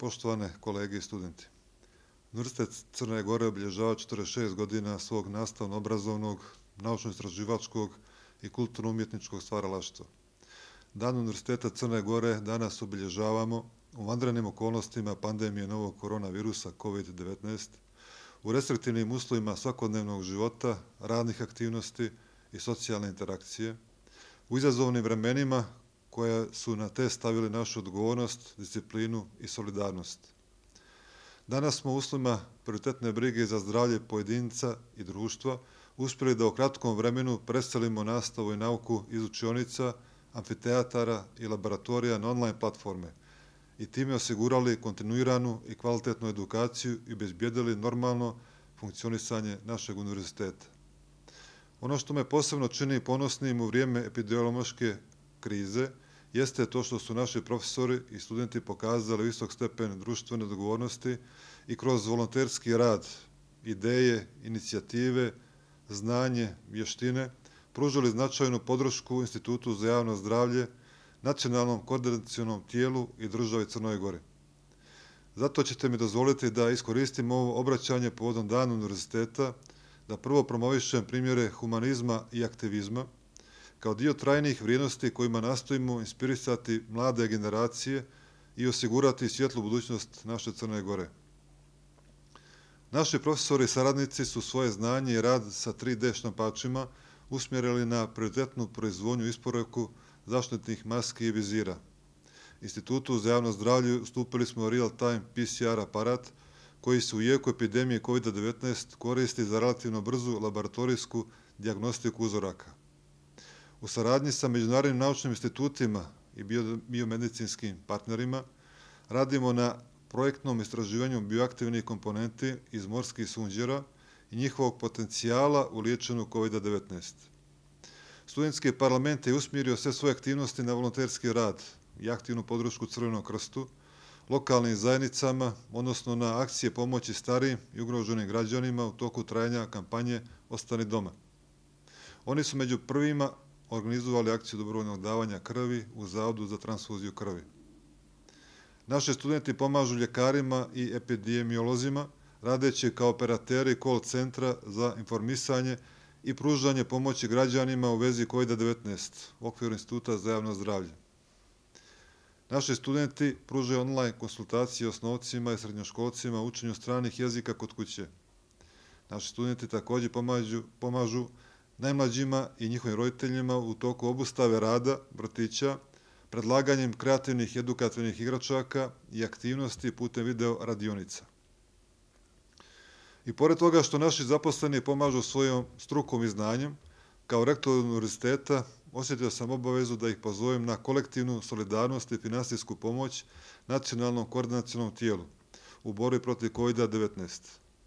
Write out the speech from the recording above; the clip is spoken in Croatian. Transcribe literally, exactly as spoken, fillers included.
Poštovane kolege i studenti. Univerzitet Crne Gore obilježava četrdeset šest godina svog nastavno-obrazovnog, naučno-istraživačkog i kulturno-umjetničkog stvaralaštva. Dan Univerziteta Crne Gore danas obilježavamo u vanrednim okolnostima pandemije novog koronavirusa kovid devetnaest, u restriktivnim uslovima svakodnevnog života, radnih aktivnosti i socijalne interakcije, u izazovnim vremenima koja su na test stavili našu odgovornost, disciplinu i solidarnost. Danas smo u uslovima prioritetne brige za zdravlje pojedinca i društva uspjeli da u kratkom vremenu preselimo nastavu i nauku iz učionica, amfiteatara i laboratorija na online platforme i time osigurali kontinuiranu i kvalitetnu edukaciju i obezbijedili normalno funkcionisanje našeg univerziteta. Ono što me posebno čini ponosnim u vrijeme epidemiološke krize jeste to što su naši profesori i studenti pokazali visok stepen društvene odgovornosti i kroz volonterski rad, ideje, inicijative, znanje, vještine pružili značajnu podršku Institutu za javno zdravlje, nacionalnom koordinacionom tijelu i državi Crnoj Gori. Zato ćete mi dozvoliti da iskoristim ovo obraćanje povodom Dana univerziteta, da prvo promovišem primjere humanizma i aktivizma, kao dio trajnih vrijednosti kojima nastojimo inspirisati mlade generacije i osigurati svjetlu budućnost naše Crne Gore. Naši profesori i saradnici su svoje znanje i rad sa tri de štampačima usmjerili na prioritetnu proizvodnju i isporuku zaštitnih maski i vizira. Institutu za javno zdravlje ustupili smo real-time P C R aparat koji se u jeku epidemije kovid devetnaest koristi za relativno brzu laboratorijsku dijagnostiku uzoraka. U saradnji sa međunarodnim naučnim institutima i biomedicinskim partnerima radimo na projektnom istraživanju bioaktivnih komponenti iz morskih sunđera i njihovog potencijala u liječenju kovid devetnaest. Studentski parlament je usmjerio sve svoje aktivnosti na volonterski rad i aktivnu podršku Crvenom krstu, lokalnim zajednicama, odnosno na akcije pomoći starijim i ugroženim građanima u toku trajanja kampanje Ostani doma. Oni su među prvima organizovali akciju dobrovoljnog davanja krvi u Zavodu za transfuziju krvi. Naši studenti pomažu ljekarima i epidemiolozima, radeći kao operateri call centra za informisanje i pružanje pomoći građanima u vezi kovid devetnaest u okviru Instituta za javno zdravlje. Naši studenti pružaju online konsultacije osnovcima i srednjoškolcima u učenju stranih jezika kod kuće. Naši studenti također pomažu, pomažu najmlađima i njihovim roditeljima u toku obustave rada vrtića, predlaganjem kreativnih edukativnih igračaka i aktivnosti putem video radionica. I pored toga što naši zaposleni pomažu svojom strukom i znanjem, kao rektor univerziteta osjetio sam obavezu da ih pozovem na kolektivnu solidarnost i finansijsku pomoć nacionalnom koordinacionom tijelu u borbi protiv kovid devetnaest.